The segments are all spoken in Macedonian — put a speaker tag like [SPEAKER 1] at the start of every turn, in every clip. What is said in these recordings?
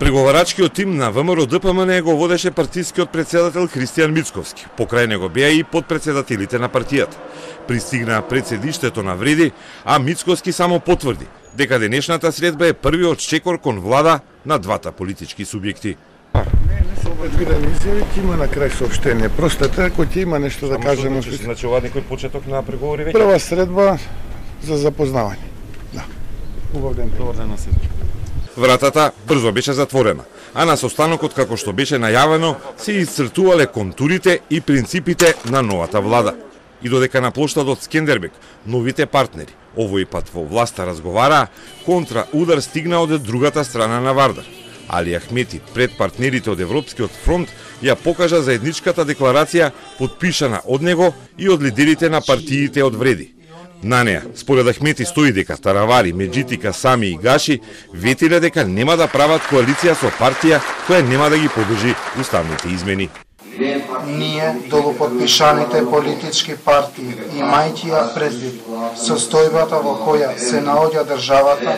[SPEAKER 1] Преговарачкиот тим на ВМРО-ДПМН го водеше партискиот председател Христијан Мицковски. Покрај него беа и подпредседателите на партијата. Пристигнаа пред седиштето на Вреди, а Мицковски само потврди дека денешната средба е првиот чекор кон влада на двата политички субјекти.
[SPEAKER 2] Не се предвидени изјави, ќе има на крај соопштение. Просто ако ќе има нешто да кажеме.
[SPEAKER 1] Значи ова некој почеток на преговори веќе?
[SPEAKER 2] Прва средба за запознавање. Да. Убав ден.
[SPEAKER 1] Добар ден на сите. Вратата брзо беше затворена, а на состанокот, како што беше најавено, се исцртувале контурите и принципите на новата влада. И додека на плоштадот Скендербек новите партнери овој пат во власта разговараа, контра удар стигна од другата страна на Вардар. Али Ахмети пред партнерите од Европскиот фронт ја покажа заедничката декларација подпишана од него и од лидерите на партиите од Вреди. На неа, според Ахмети, стои дека Таравари, Меджитика, Сами и Гаши ветиле дека нема да прават коалиција со партија која нема да ги поддржи уставните измени.
[SPEAKER 3] Ние, долуподпишаните политички партии, имајќи ја предвид состојбата во која се наоѓа државата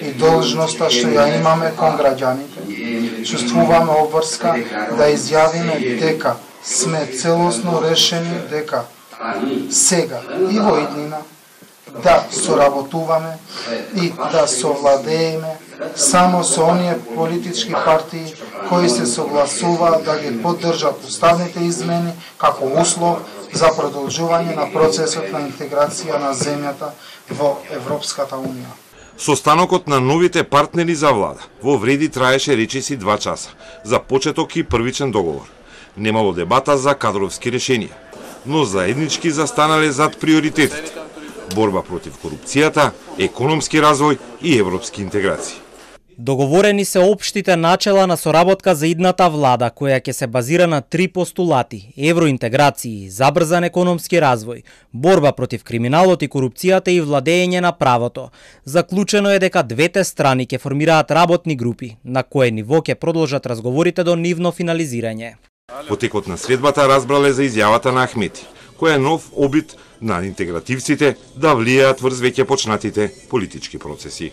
[SPEAKER 3] и должноста што ја имаме кон граѓаните, чувствуваме обврска да изјавиме дека сме целосно решени дека сега и во иднина да соработуваме и да совладееме само со оние политички партии кои се согласуваат да ги поддржат уставните измени како услов за продолжување на процесот на интеграција на земјата во Европската Унија.
[SPEAKER 1] Состанокот на новите партнери за влада во Вреди траеше речиси 2 часа за почеток и првичен договор. Немало дебата за кадровски решенија, но заеднички застанале зад приоритетите: борба против корупцијата, економски развој и европски интеграции.
[SPEAKER 4] Договорени се општите начела на соработка за идната влада, која ќе се базира на 3 постулати: евроинтеграции, забрзан економски развој, борба против криминалот и корупцијата и владење на правото. Заклучено е дека двете страни ќе формираат работни групи, на кое ниво ќе продолжат разговорите до нивно финализирање.
[SPEAKER 1] Во текот на средбата разбрале за изјавата на Ахмети, која е нов обид на интегративците да влијаат врз веќе почнатите политички процеси.